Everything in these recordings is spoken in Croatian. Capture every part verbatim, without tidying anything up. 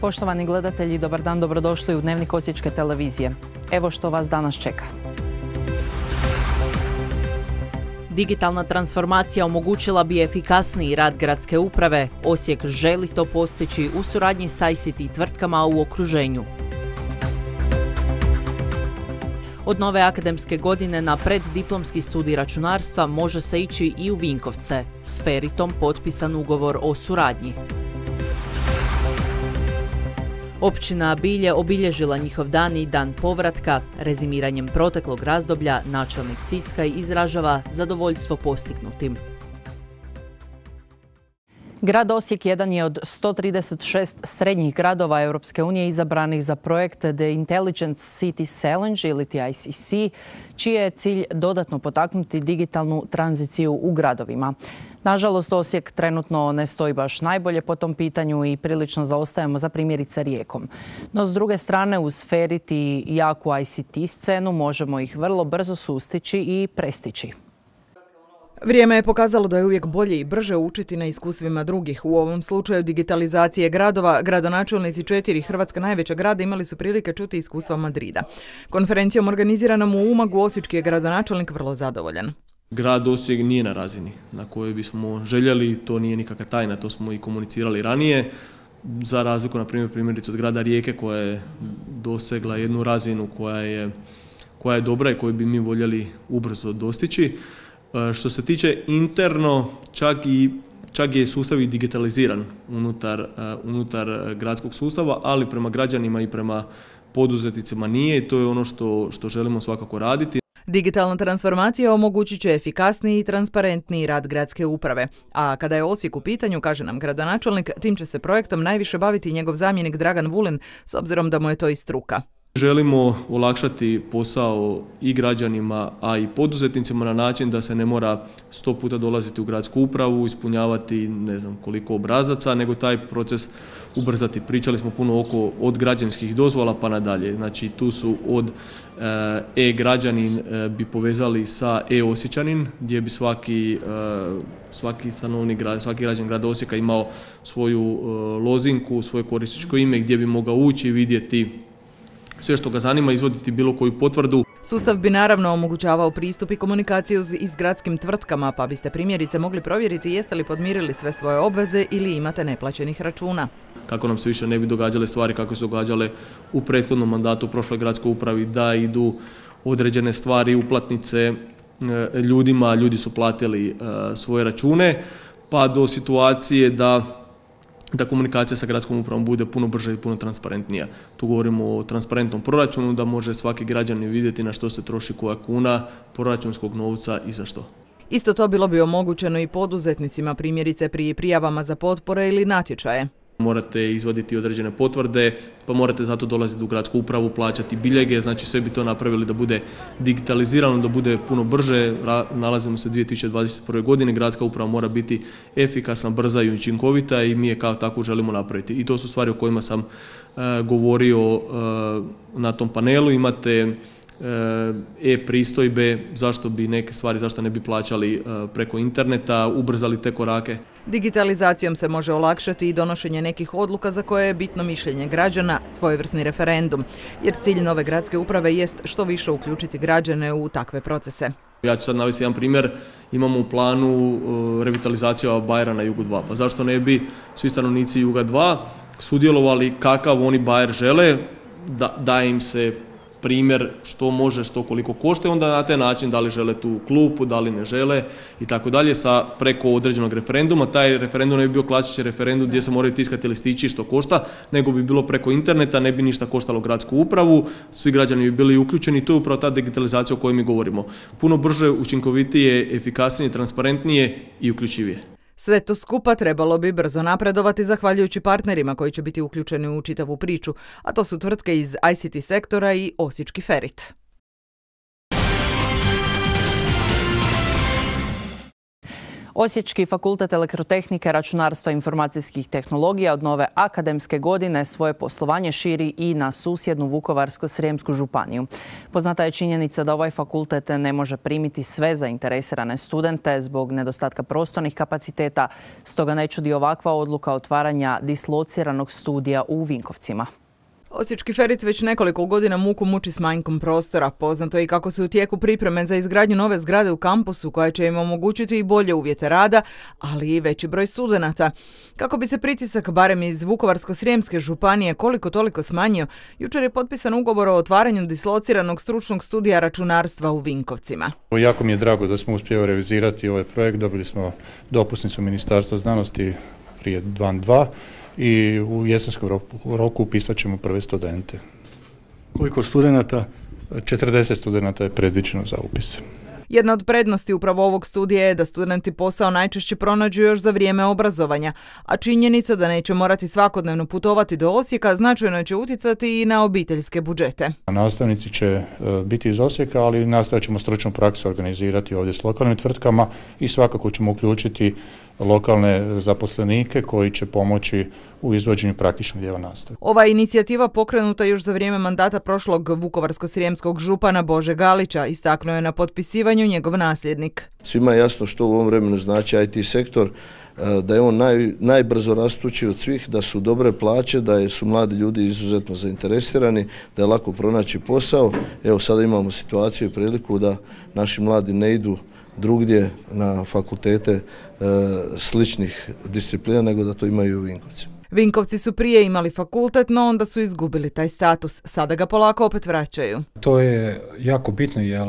Poštovani gledatelji, dobar dan, dobrodošli u Dnevnik Osječke televizije. Evo što vas danas čeka. Digitalna transformacija omogućila bi efikasniji rad gradske uprave. Osijek želi to postići u suradnji s I C T tvrtkama u okruženju. Od nove akademske godine na preddiplomski studij računarstva može se ići i u Vinkovce. S Feritom potpisan ugovor o suradnji. Općina Bilje obilježila njihov dan i dan povratka. Rezimiranjem proteklog razdoblja načelnik Cickaj izražava zadovoljstvo postignutim. Grad Osijek jedan je od sto trideset šest srednjih gradova Europske unije izabranih za projekt The Intelligent Cities Challenge ili I C C, čiji je cilj dodatno potaknuti digitalnu tranziciju u gradovima. Nažalost, Osijek trenutno ne stoji baš najbolje po tom pitanju i prilično zaostajemo za primjerice Rijekom. No, s druge strane, uz Ferit i jaku I C T scenu možemo ih vrlo brzo sustići i prestići. Vrijeme je pokazalo da je uvijek bolje i brže učiti na iskustvima drugih. U ovom slučaju digitalizacije gradova, gradonačelnici četiri hrvatska najveća grada imali su prilike čuti iskustva Madrida. Konferencijom organiziranom u Umagu osječki je gradonačelnik vrlo zadovoljan. Grad Osijek nije na razini na kojoj bismo željeli, to nije nikakva tajna, to smo i komunicirali ranije. Za razliku, na primjer, primjerice od grada Rijeke koja je dosegla jednu razinu koja je, koja je dobra i koju bi mi voljeli ubrzo dostići. Što se tiče interno, čak, i, čak je sustav i digitaliziran unutar, unutar gradskog sustava, ali prema građanima i prema poduzetnicima nije i to je ono što, što želimo svakako raditi. Digitalna transformacija omogućit će efikasniji i transparentniji rad gradske uprave. A kada je Osijek u pitanju, kaže nam gradonačelnik, tim će se projektom najviše baviti njegov zamjenik Dragan Vulin, s obzirom da mu je to i struka. Želimo olakšati posao i građanima, a i poduzetnicima na način da se ne mora sto puta dolaziti u gradsku upravu, ispunjavati ne znam koliko obrazaca, nego taj proces ubrzati. Pričali smo puno oko od građanskih dozvola pa nadalje. Znači tu su od e-građanin bi povezali sa e-osječanin, gdje bi svaki, svaki stanovnik, svaki građan grada Osijeka imao svoju lozinku, svoje korisničko ime gdje bi mogao ući i vidjeti sve što ga zanima, izvoditi bilo koju potvrdu. Sustav bi naravno omogućavao pristup i komunikaciju i s gradskim tvrtkama, pa biste primjerice mogli provjeriti jeste li podmirili sve svoje obveze ili imate neplaćenih računa. Kako nam se više ne bi događale stvari kako se događale u prethodnom mandatu u prošloj gradskoj upravi, da idu određene stvari, uplatnice ljudima, ljudi su platili svoje račune, pa do situacije da da komunikacija sa gradskom upravom bude puno brža i puno transparentnija. Tu govorimo o transparentnom proračunu, da može svaki građanin vidjeti na što se troši koja kuna proračunskog novca i za što. Isto to bilo bi omogućeno i poduzetnicima, primjerice pri prijavama za potpore ili natječaje. Morate izvaditi određene potvrde, pa morate zato dolaziti u gradsku upravu, plaćati biljege, znači sve bi to napravili da bude digitalizirano, da bude puno brže. Nalazimo se u dvije tisuće dvadeset prve. godine, gradska uprava mora biti efikasna, brza i učinkovita i mi je kao tako želimo napraviti. I to su stvari o kojima sam uh, govorio uh, na tom panelu. Imate e-pristojbe, zašto bi neke stvari, zašto ne bi plaćali preko interneta, ubrzali te korake. Digitalizacijom se može olakšati i donošenje nekih odluka za koje je bitno mišljenje građana, svojevrsni referendum, jer cilj nove gradske uprave jest što više uključiti građane u takve procese. Ja ću sad navesti jedan primjer, imamo u planu revitalizacija Bajera na Jugu dva, pa zašto ne bi svi stanovnici Juga dva sudjelovali kakav oni Bajer žele, da, da im se primjer što može, što koliko košta i onda na taj način da li žele tu klupu, da li ne žele i tako dalje sa preko određenog referenduma. Taj referendum ne bi bio klasični referendum gdje se moraju tiskati listići što košta, nego bi bilo preko interneta, ne bi ništa koštalo gradsku upravu, svi građani bi bili uključeni i to je upravo ta digitalizacija o kojoj mi govorimo. Puno brže, učinkovitije, efikasnije, transparentnije i uključivije. Sve to skupa trebalo bi brzo napredovati zahvaljujući partnerima koji će biti uključeni u čitavu priču, a to su tvrtke iz I C T sektora i osječki Ferit. Osječki fakultet elektrotehnike, računarstva i informacijskih tehnologija od nove akademske godine svoje poslovanje širi i na susjednu Vukovarsko-srijemsku županiju. Poznata je činjenica da ovaj fakultet ne može primiti sve zainteresirane studente zbog nedostatka prostornih kapaciteta, stoga ne čudi ovakva odluka otvaranja dislociranog studija u Vinkovcima. Osječki Ferit već nekoliko godina muku muči s manjkom prostora. Poznato je i kako su u tijeku pripreme za izgradnju nove zgrade u kampusu koja će im omogućiti i bolje uvjete rada, ali i veći broj studenata. Kako bi se pritisak barem iz Vukovarsko-srijemske županije koliko toliko smanjio, jučer je potpisan ugovor o otvaranju dislociranog stručnog studija računarstva u Vinkovcima. Jako mi je drago da smo uspjeli realizirati ovaj projekt. Dobili smo dopusnicu Ministarstva znanosti prije dva dva i u jesenskom roku, roku upisat ćemo prve studente. Koliko studenata? četrdeset studenata je predviđeno za upis. Jedna od prednosti upravo ovog studija je da studenti posao najčešće pronađu još za vrijeme obrazovanja, a činjenica da neće morati svakodnevno putovati do Osijeka značajno će utjecati i na obiteljske budžete. Nastavnici će biti iz Osijeka, ali nastavit ćemo stručnu praksu organizirati ovdje s lokalnim tvrtkama i svakako ćemo uključiti lokalne zaposlenike koji će pomoći u izvođenju praktičnog dijela nastave. Ova inicijativa pokrenuta još za vrijeme mandata prošlog vukovarsko-srijemskog župana Bože Galića, istaknuo je na potpisivanju njegov nasljednik. Svima je jasno što u ovom vremenu znači I T sektor, da je on naj, najbrzo rastući od svih, da su dobre plaće, da su mladi ljudi izuzetno zainteresirani, da je lako pronaći posao. Evo sada imamo situaciju i priliku da naši mladi ne idu drugdje na fakultete e, sličnih disciplina, nego da to imaju u Vinkovcima. Vinkovci su prije imali fakultet, no onda su izgubili taj status. Sada ga polako opet vraćaju. To je jako bitno jer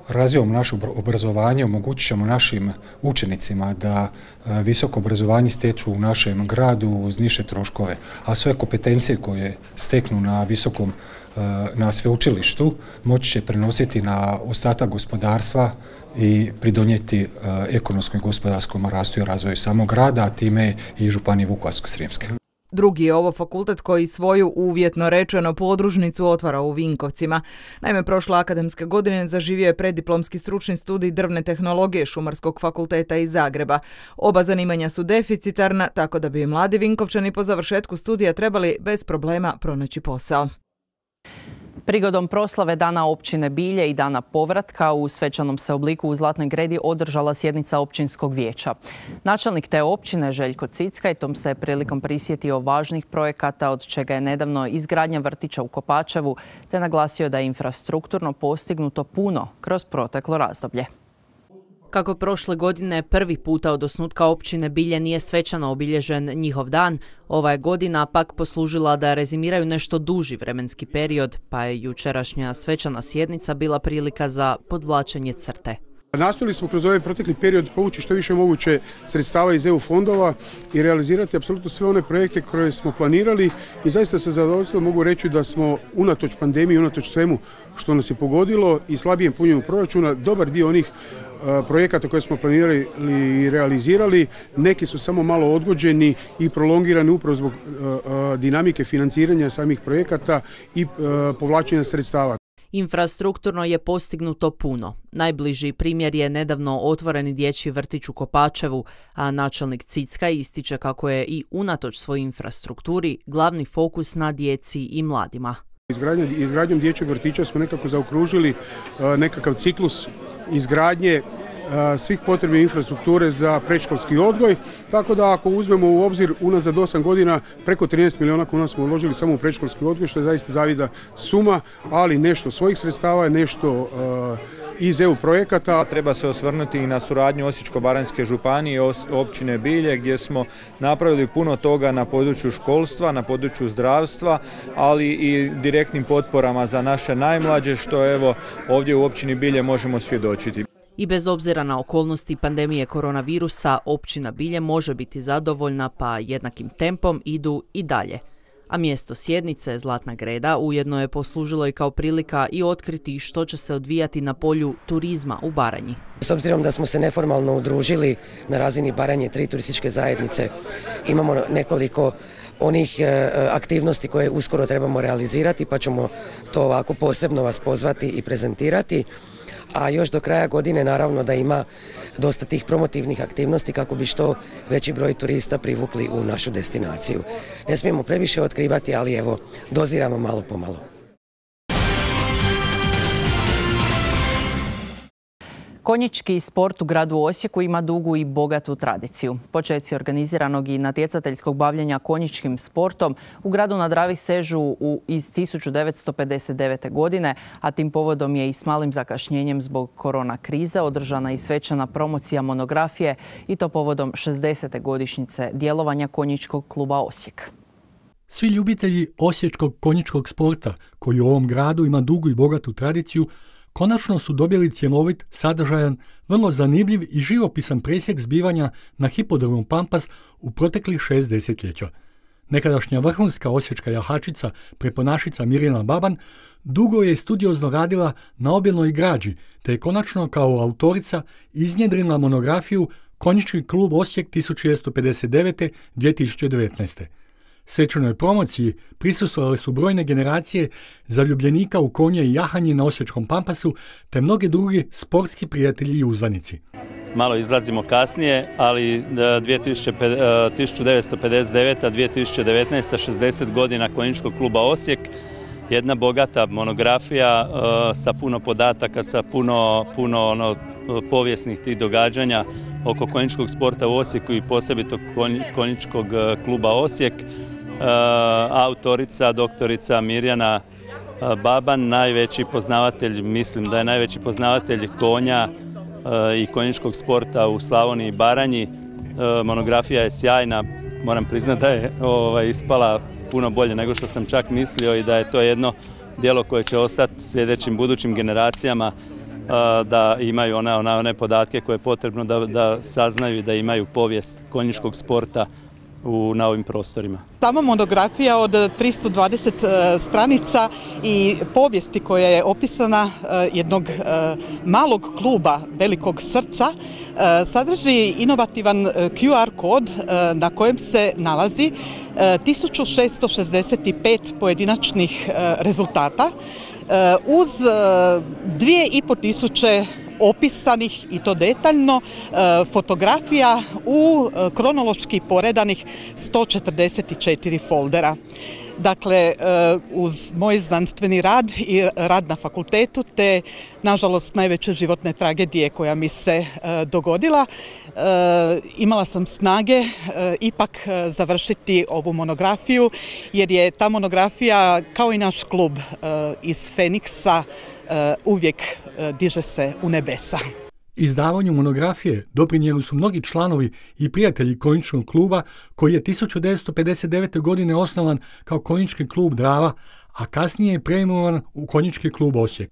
razvijavom naše obrazovanje omogućit ćemo našim učenicima da visoko obrazovanje stječu u našem gradu uz niže troškove, a sve kompetencije koje steknu na visokom na sveučilištu moći će prenositi na ostatak gospodarstva i pridonijeti ekonomskom i gospodarskom rastu i razvoju samog grada, a time i županije Vukovarsko-srijemske. Drugi je ovo fakultet koji svoju uvjetno rečeno podružnicu otvara u Vinkovcima. Naime, prošle akademske godine zaživio je preddiplomski stručni studij drvne tehnologije Šumarskog fakulteta iz Zagreba. Oba zanimanja su deficitarna, tako da bi mladi Vinkovčani po završetku studija trebali bez problema pronaći posao. Prigodom proslave Dana općine Bilje i Dana povratka u svečanom se obliku u Zlatnoj Gredi održala sjednica općinskog vijeća. Načelnik te općine Željko Cickaj tom se prilikom prisjetio važnih projekata, od čega je nedavno izgradnja vrtića u Kopačevu, te naglasio da je infrastrukturno postignuto puno kroz proteklo razdoblje. Kako prošle godine prvi puta od osnutka općine Bilje nije svečano obilježen njihov dan, ova je godina pak poslužila da rezimiraju nešto duži vremenski period, pa je jučerašnja svečana sjednica bila prilika za podvlačenje crte. Nastojali smo kroz ovaj protekli period povući što više moguće sredstava iz E U fondova i realizirati apsolutno sve one projekte koje smo planirali i zaista sa zadovoljstvom mogu reći da smo unatoč pandemiji, unatoč svemu što nas je pogodilo i slabijem punjenju proračuna, dobar dio onih projekata koje smo planirali i realizirali, neki su samo malo odgođeni i prolongirani upravo zbog dinamike financiranja samih projekata i povlačenja sredstava. Infrastrukturno je postignuto puno. Najbliži primjer je nedavno otvoreni dječji vrtić u Kopačevu, a načelnik Cickaj ističe kako je i unatoč svojoj infrastrukturi glavni fokus na djeci i mladima. Izgradnjom dječjeg vrtića smo nekako zaokružili nekakav ciklus izgradnje svih potrebne infrastrukture za predškolski odgoj, tako da ako uzmemo u obzir unazad osam godina preko trinaest milijuna kuna smo uložili samo u predškolski odgoj, što je zaista zavida suma, ali nešto svojih sredstava, nešto iz E U projekata. Treba se osvrnuti i na suradnju Osječko-baranjske županije i općine Bilje, gdje smo napravili puno toga na području školstva, na području zdravstva, ali i direktnim potporama za naše najmlađe, što evo ovdje u općini Bilje možemo svjedočiti. I bez obzira na okolnosti pandemije koronavirusa, općina Bilje može biti zadovoljna, pa jednakim tempom idu i dalje. A mjesto sjednice, Zlatna Greda, ujedno je poslužilo i kao prilika i otkriti što će se odvijati na polju turizma u Baranji. S obzirom da smo se neformalno udružili na razini Baranje, tri turističke zajednice, imamo nekoliko onih aktivnosti koje uskoro trebamo realizirati, pa ćemo to ovako posebno vas pozvati i prezentirati. a još do kraja godine naravno da ima dosta tih promotivnih aktivnosti kako bi što veći broj turista privukli u našu destinaciju. Ne smijemo previše otkrivati, ali evo, doziramo malo po malo. Konjički sport u gradu Osijeku ima dugu i bogatu tradiciju. Počeci organiziranog i natjecateljskog bavljenja konjičkim sportom u gradu na Dravi sežu u, iz tisuću devetsto pedeset devete. godine, a tim povodom je i s malim zakašnjenjem zbog korona krize održana i svečana promocija monografije i to povodom šezdesete godišnjice djelovanja Konjičkog kluba Osijek. Svi ljubitelji osječkog konjičkog sporta, koji u ovom gradu ima dugu i bogatu tradiciju, konačno su dobili cjelovit, sadržajan, vrlo zanimljiv i živopisan presjek zbivanja na hipodromu Pampas u proteklih šest desetljeća. Nekadašnja vrhunska osječka jahačica, preponašica Mirjana Baban, dugo je studiozno radila na obilnoj građi, te je konačno kao autorica iznjedrila monografiju Konjički klub Osijek tisuću devetsto pedeset devete do dvije tisuće devetnaeste. Svečanoj promociji prisustvovale su brojne generacije zaljubljenika u konje i jahanje na osječkom Pampasu, te mnogi drugi sportski prijatelji i uzvanici. Malo izlazimo kasnije, ali tisuću devetsto pedeset devete. do dvije tisuće devetnaeste. šezdeset godina Konjičkog kluba Osijek. Jedna bogata monografija sa puno podataka, sa puno, puno ono, povijesnih tih događanja oko konjičkog sporta u Osijeku i posebito Konjičkog kluba Osijek. Autorica, doktorica Mirjana Baban, najveći poznavatelj, mislim da je najveći poznavatelj konja i konjičkog sporta u Slavoniji i Baranji. Monografija je sjajna, moram priznati da je ovaj, ispala puno bolje nego što sam čak mislio i da je to jedno djelo koje će ostati sljedećim budućim generacijama da imaju one, one, one podatke koje je potrebno da, da saznaju i da imaju povijest konjičkog sporta u, na ovim prostorima. Sama monografija od tristo dvadeset stranica i povijesti koja je opisana jednog malog kluba velikog srca sadrži inovativan Q R kod na kojem se nalazi tisuću šessto šezdeset pet pojedinačnih rezultata uz dvije i po tisuće opisanih i to detaljno fotografija u kronološki poredanih sto četrdeset četiri foldera. Dakle, uz moj znanstveni rad i rad na fakultetu te, nažalost, najveće životne tragedije koja mi se dogodila, imala sam snage ipak završiti ovu monografiju jer je ta monografija, kao i naš klub iz Feniksa, uvijek diže se u nebesa. Izdavanju monografije doprinijeli su mnogi članovi i prijatelji Konjičkog kluba koji je tisuću devetsto pedeset devete. godine osnovan kao Konjički klub Drava, a kasnije je preimenovan u Konjički klub Osijek.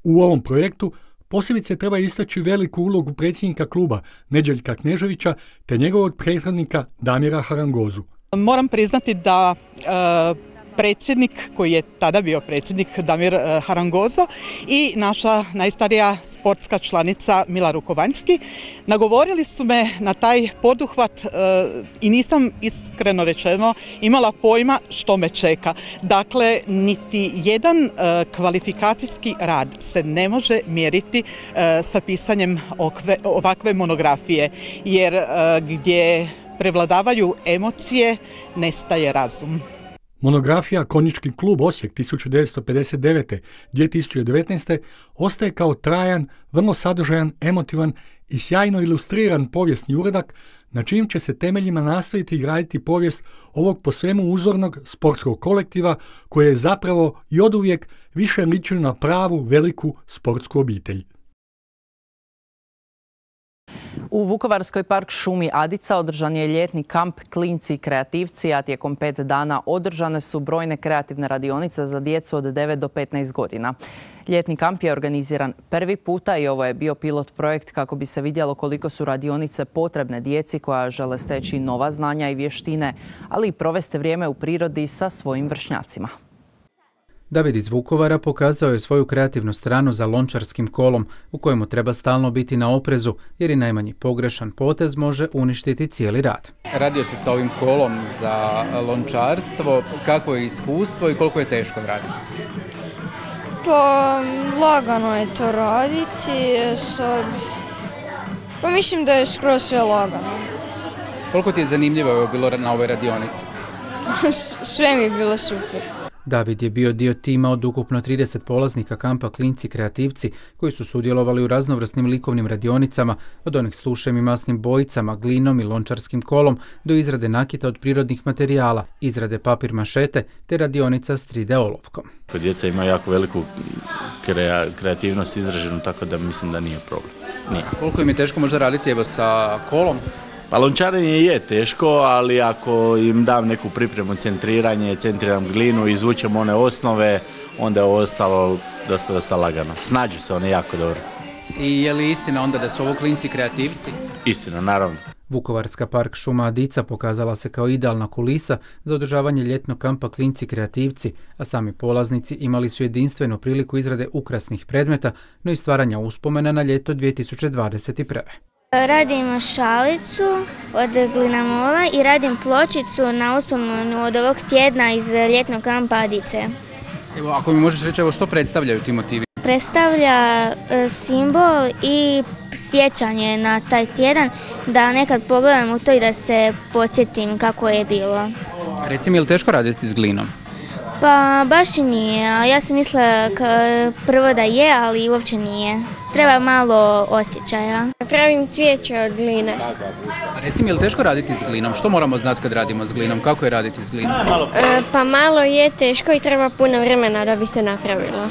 U ovom projektu posebice treba istaći veliku ulogu predsjednika kluba Nedjeljka Kneževića te njegovog prethodnika Damira Harangozu. Moram priznati da e, predsjednik, koji je tada bio predsjednik Damir Harangozo i naša najstarija sportska članica Mila Rukovanjski, nagovorili su me na taj poduhvat i nisam, iskreno rečeno, imala pojma što me čeka. Dakle, niti jedan kvalifikacijski rad se ne može mjeriti sa pisanjem ovakve monografije, jer gdje prevladavaju emocije, nestaje razum. Monografija Konjički klub Osijek tisuću devetsto pedeset devete. do dvije tisuće devetnaeste. ostaje kao trajan, vrlo sadržajan, emotivan i sjajno ilustriran povijesni uradak na čijim će se temeljima nastaviti graditi povijest ovog po svemu uzornog sportskog kolektiva koje je zapravo i oduvijek više ličio na pravu veliku sportsku obitelj. U Vukovarskoj park šumi Adica održan je ljetni kamp Klinci i kreativci, a tijekom pet dana održane su brojne kreativne radionice za djecu od devet do petnaest godina. Ljetni kamp je organiziran prvi puta i ovo je bio pilot projekt kako bi se vidjelo koliko su radionice potrebne djeci koja žele steći nova znanja i vještine, ali i provesti vrijeme u prirodi sa svojim vršnjacima. David iz Vukovara pokazao je svoju kreativnu stranu za lončarskim kolom u kojemu treba stalno biti na oprezu jer i najmanji pogrešan potez može uništiti cijeli rad. Radio se sa ovim kolom za lončarstvo. Kako je iskustvo i koliko je teško raditi? Pa lagano je to raditi, sad... Pa mislim da je skroz sve lagano. Koliko ti je zanimljivo bilo na ovoj radionici? Sve mi je bilo super. David je bio dio tima od ukupno trideset polaznika kampa Klinci kreativci koji su sudjelovali u raznovrsnim likovnim radionicama, od onih s tušem i masnim bojicama, glinom i lončarskim kolom do izrade nakita od prirodnih materijala, izrade papir mašete te radionica s tri D olovkom. Djeca imaju jako veliku krea, kreativnost izraženu, tako da mislim da nije problem. Nije. Koliko im je teško možda raditi evo sa kolom? Pa lončarenje je teško, ali ako im dam neku pripremu, centriranje, centriram glinu, izvučem one osnove, onda je ostalo dosta, dosta lagano. Snađu se one jako dobro. I je li istina onda da su ovo klinci kreativci? Istina, naravno. Vukovarska park šuma Adica pokazala se kao idealna kulisa za održavanje ljetnog kampa Klinci kreativci, a sami polaznici imali su jedinstvenu priliku izrade ukrasnih predmeta, no i stvaranja uspomena na ljeto dvije tisuće dvadeset prve. Radim šalicu od glinamola i radim pločicu na uspomenu od ovog tjedna iz ljetnog kampa Adice. Evo, ako mi možeš reći, evo, što predstavljaju ti motivi? Predstavlja e, simbol i sjećanje na taj tjedan, da nekad pogledam u to i da se podsjetim kako je bilo. Reci mi, je li teško raditi s glinom? Pa baš i nije, a ja sam mislila prvo da je, ali uopće nije. Treba malo osjećaja. Pravim cvijeće od gline. Reci mi, je li teško raditi s glinom? Što moramo znati kad radimo s glinom? Kako je raditi s glinom? E, pa malo je teško i treba puno vremena da bi se napravilo.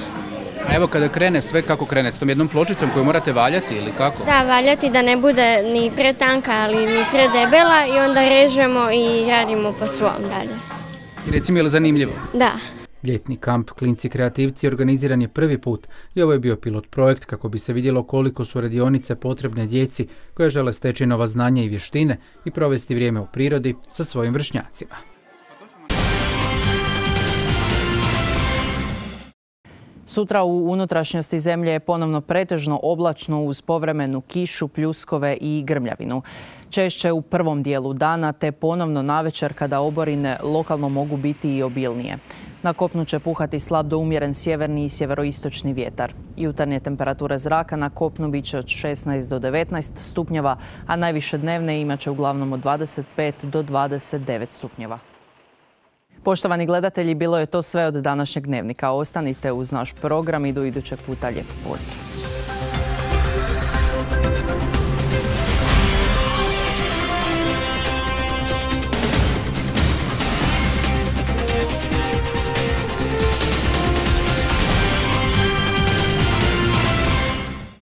A evo kada krene sve, kako krene? S tom jednom pločicom koju morate valjati ili kako? Da, valjati da ne bude ni pretanka, ali ni predebela i onda režemo i radimo po svom dalje. I reci mi, je li zanimljivo? Da. Ljetni kamp Klinci kreativci organiziran je prvi put i ovo je bio pilot projekt kako bi se vidjelo koliko su radionice potrebne djeci koje žele steći nova znanja i vještine i provesti vrijeme u prirodi sa svojim vršnjacima. Sutra u unutrašnjosti zemlje je ponovno pretežno oblačno uz povremenu kišu, pljuskove i grmljavinu. Češće u prvom dijelu dana te ponovno navečer kada oborine lokalno mogu biti i obilnije. Na kopnu će puhati slab do umjeren sjeverni i sjeveroistočni vjetar. Jutarnje temperature zraka na kopnu bit će od šesnaest do devetnaest stupnjeva, a najviše dnevne imat će uglavnom od dvadeset pet do dvadeset devet stupnjeva. Poštovani gledatelji, bilo je to sve od današnjeg dnevnika. Ostanite uz naš program i do idućeg puta. Lijep pozdrav!